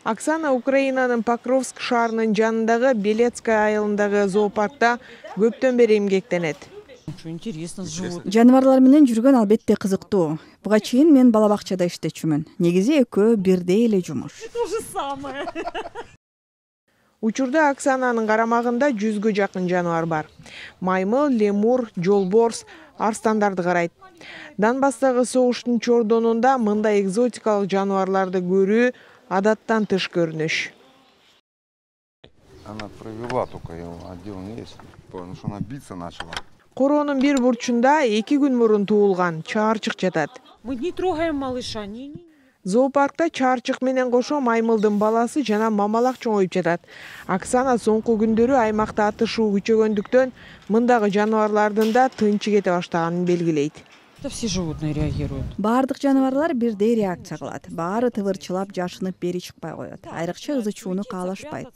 Оксана Украинанын Покровск шаарынын жанындагы Белецкая айылындагы зоопаркта көптөн бери эмгектенет. Жаныбарлар менен жүргөн албетте кызыктуу. Буга чейин мен бала бакчада иштечүмүн. Негизи экөө бирдей эле жумуш. То же самое. Учурда Оксананын карамагында 100гө жакын жаныбар бар. Маймыл, лемур, жолборс, арстандарды карайт. Донбасстагы согуштун чордонунда мындай экзотикалык жаныбарларды көрүү адаттан тыш көрүнүш. Она провела только его отдел есть, потому что она биться начала. Короонун бир бурчунда 2 күн мурун туулган чаарчык жатат. Мы не трогаем малыша. Зоопаркта чаарчык менен кошо маймылдын баласы жана мамалак чоңоюп жатат. Оксана соңку күндөрү аймакта атышуу күчөгөндүктөн мындагы жаныбарлардын да тынчы кете баштаганын белгилейт. Все животные реагируют. Баардык жаныбарлар бирдей реакция кылат. Баары тывырчылап, жашынып бери чыкпай коет. Айрыкча ызы чууну каалашпайт.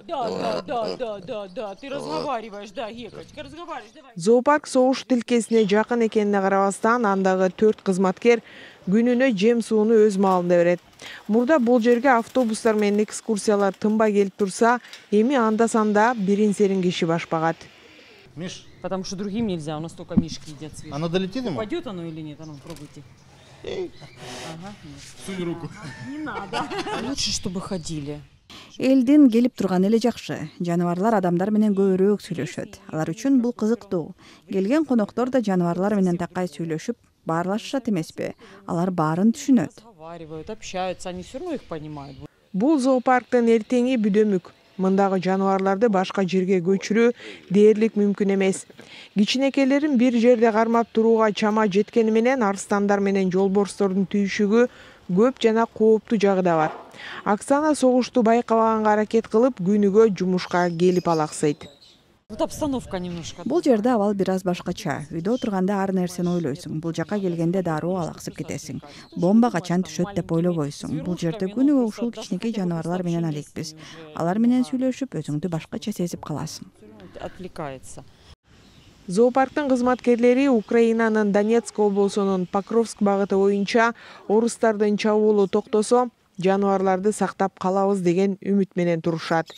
Да, ты разговариваешь, да, Гекочка, разговариваешь, давай. Зоопарк согуш тилкесине жакын экенине карабастан андагы 4 кызматкер күнүнө жем сууну өз маалында берет. Мурда бул жерге автобустар менен экскурсиялар тынбай келип турса, эми анда-санда бирин-серин киши башпагат. Миш, Потому что другим нельзя, у нас только мишки едят свежие. оно долетит ему? Пойдет оно или нет? А ну, пробуйте. Ага, нет. Сунь руку. Не надо. Лучше, чтобы ходили. Элдин келип турганы эле жакшы. Жаныбарлар адамдар менен көбүрөөк сүйлөшөт. Алар үчүн бул кызыктуу. Келген коноктор да жаныбарлар менен такай сүйлөшүп, баарлашышат эмеспи? Алар баарын түшүнөт. Разговаривают, общаются, они все равно их понимают. Бул зоопарктын эртеңи бүдөмүк. Мындагы жаныбарларды башка жерге көчүрүү дээрлик мүмкүн эмес. Кичинекелерин бир жерде кармап турууга чама жеткени менен арстандар менен жолборстордун түйшүгү көп жана кооптуу жагы да бар. Оксана согушту байкабаганга аракет кылып, күнүгө жумушка келип алаксыйт. Вот обстановка немножко. Бул жерде абал бир аз башкача. Үйдө отурганда ар нерсени ойлойсуң. Бул жака келгенде дароо алаксып кетесиң. Бомба качан түшөт деп ойлобойсуң. Бул жерде күнүгө ушул кичинекей жаныбарлар менен алекпиз. Алар менен сүйлөшүп, өзүңдү башкача сезип каласың. Отвлекается. Зоопарктын кызматкерлери Украинанын Донецк облусунун Покровск багыты боюнча орустардын чабуулу токтосо, жаныбарларды сактап калабыз деген үмүт менен турушат.